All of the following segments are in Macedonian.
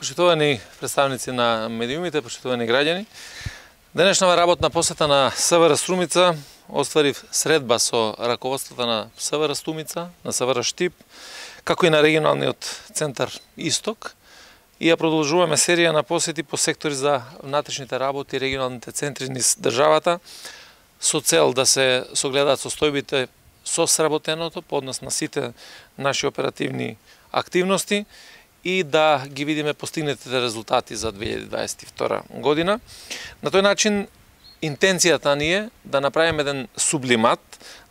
Почитувани представници на медиумите, почитувани граѓани, денешнава работна посета на СВР Струмица остварив средба со раководството на СВР Струмица, на СВР Штип, како и на регионалниот центар Исток, и ја продолжуваме серија на посети по сектори за внатрешните работи и регионалните центри низ државата, со цел да се согледаат состојбите со сработеното по однос на сите наши оперативни активности и да ги видиме постигнатите резултати за 2022 година. На тој начин, интенцијата ни е да направиме еден сублимат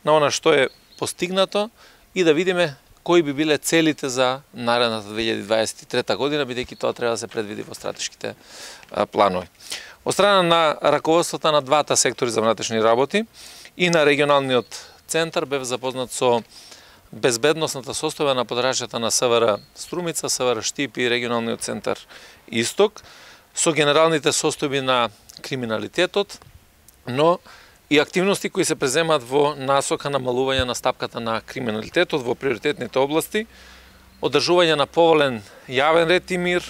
на она што е постигнато и да видиме кои би биле целите за наредната 2023 година, бидејќи тоа треба да се предвиди во стратешките планови. Од страна на раководството на двата сектори за внатрешни работи и на регионалниот центар бев запознат со безбедносната состојба на подрачјата на СВР Струмица, СВР Штип и регионалниот центар Исток, со генералните состојби на криминалитетот, но и активности кои се преземаат во насока намалување на стапката на криминалитетот во приоритетните области, одржување на поволен јавен ред и мир,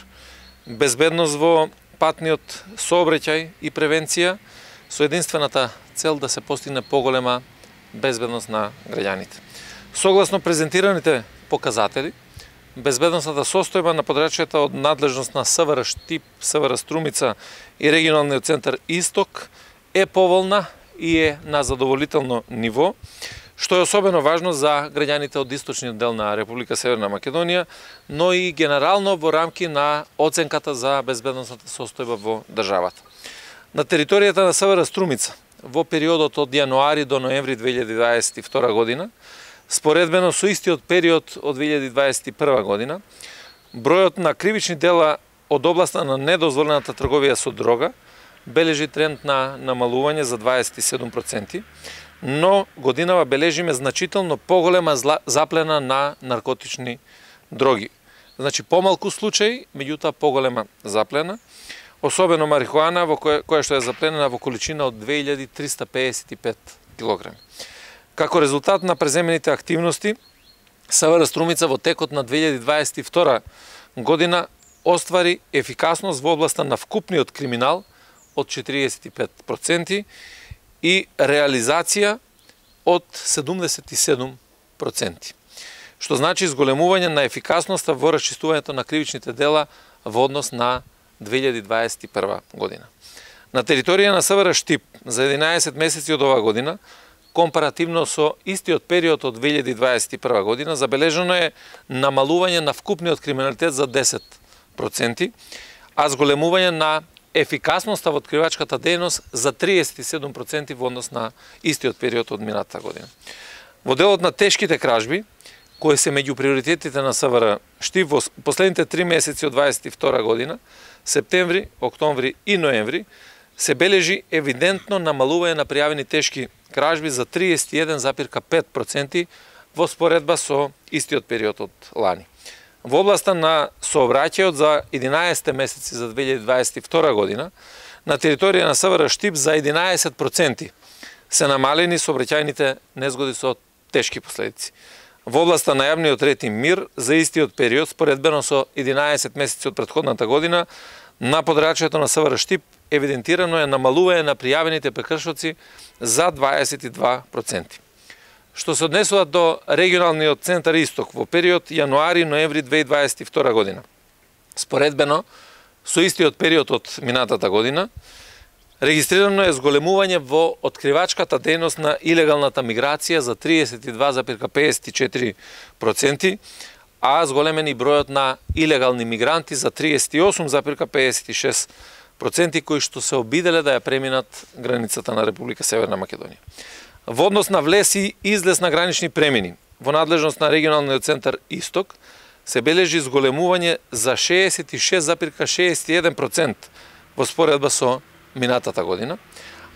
безбедност во патниот сообраќај и превенција, со единствената цел да се постигне поголема безбедност на граѓаните. Согласно презентираните показатели, безбедносната состојба на подрачјата од надлежност на СВР Штип, СВР Струмица и регионалниот центар Исток е поволна и е на задоволително ниво, што е особено важно за граѓаните од источниот дел на Република Северна Македонија, но и генерално во рамки на оценката за безбедносната состојба во државата. На територијата на СВР Струмица во периодот од јануари до ноември 2022 година, споредбено со истиот период од 2021 година, бројот на кривични дела од областа на недозволената трговија со дрога бележи тренд на намалување за 27%, но годинава бележиме значително поголема заплена на наркотични дроги. Значи помалку случаи, меѓутоа поголема заплена, особено марихуана која што е запленена во количина од 2355 килограми. Како резултат на преземените активности, СВР Струмица во текот на 2022 година оствари ефикасност во областа на вкупниот криминал од 45% и реализација од 77%, што значи зголемување на ефикасноста во расчистувањето на кривичните дела во однос на 2021 година. На територија на СВР Штип за 11 месеци од оваа година, компаративно со истиот период од 2021 година, забележено е намалување на вкупниот криминалитет за 10%, а зголемување на ефикасноста во откривачката дејност за 37% во однос на истиот период од минатата година. Во делот на тешките кражби, кои се меѓу приоритетите на СВР Штип во последните 3 месеци од 2022 година, септември, октомври и ноември, се бележи евидентно намалување на пријавени тешки кражби за 31,5% во споредба со истиот период од лани. Во областа на сообраќајот за 11 месеци за 2022 година, на територија на СВР Штип за 11% се намалени сообраќајните незгоди со тешки последици. Во областа на јавниот ред и мир за истиот период, споредбено со 11 месеци од претходната година, на подрачјето на СВР Штип евидентирано е намалување на пријавените прекршоци за 22%. Што се однесува до регионалниот центар Исток во период јануари-ноември 2022 година, споредбено со истиот период од минатата година, регистрирано е зголемување во откривачката дејност на илегалната миграција за 32,54%, а зголемен и бројот на илегални мигранти за 38,56%, кои што се обиделе да ја преминат границата на Република Северна Македонија. Во однос на влез и излез на гранични премини, во надлежност на регионалниот центар Исток, се бележи зголемување за 66,61% во споредба со минатата година,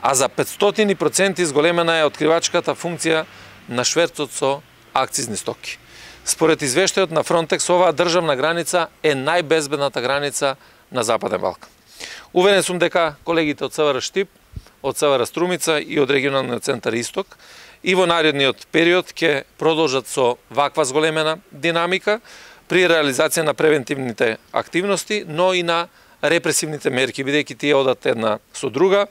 а за 500% зголемена е откривачката функција на шверцот со акцизни стоки. Според извештајот на Фронтекс, оваа државна граница е најбезбедната граница на Западен Балкан. Уверен сум дека колегите од СВР Штип, од СВР Струмица и од регионалниот центар Исток и во наредниот период ќе продолжат со ваква зголемена динамика, при реализација на превентивните активности, но и на репресивните мерки, бидејќи тие одат една со друга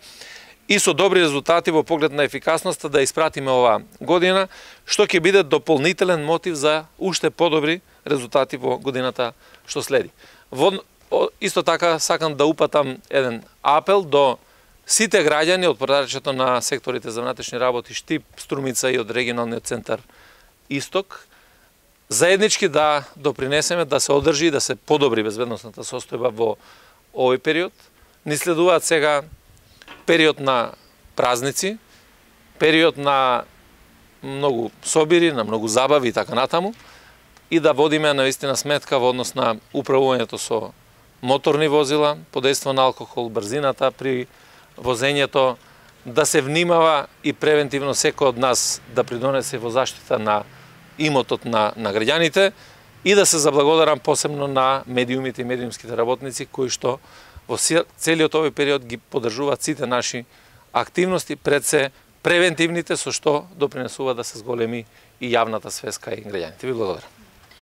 и со добри резултати во поглед на ефикасноста да испратиме оваа година, што ќе биде дополнителен мотив за уште подобри резултати во годината што следи. Исто така сакам да упатам еден апел до сите граѓани од подрачјето на секторите за внатрешни работи Штип, Струмица и од регионалниот центар Исток, заеднички да допринесеме да се одржи и да се подобри безбедносната состојба во овој период. Ни следуваат сега период на празници, период на многу собири, на многу забави и така натаму, и да водиме наистина сметка во однос на управувањето со моторни возила, подејство на алкохол, брзината при возењето, да се внимава и превентивно секој од нас да придонесе во заштита на имотот на граѓаните и да се заблагодарам посебно на медиумите и медиумските работници кои што во целиот овој период ги поддржуваат сите наши активности, пред се превентивните, со што допринесува да се зголеми и јавната свеска и граѓаните. Ви благодарам.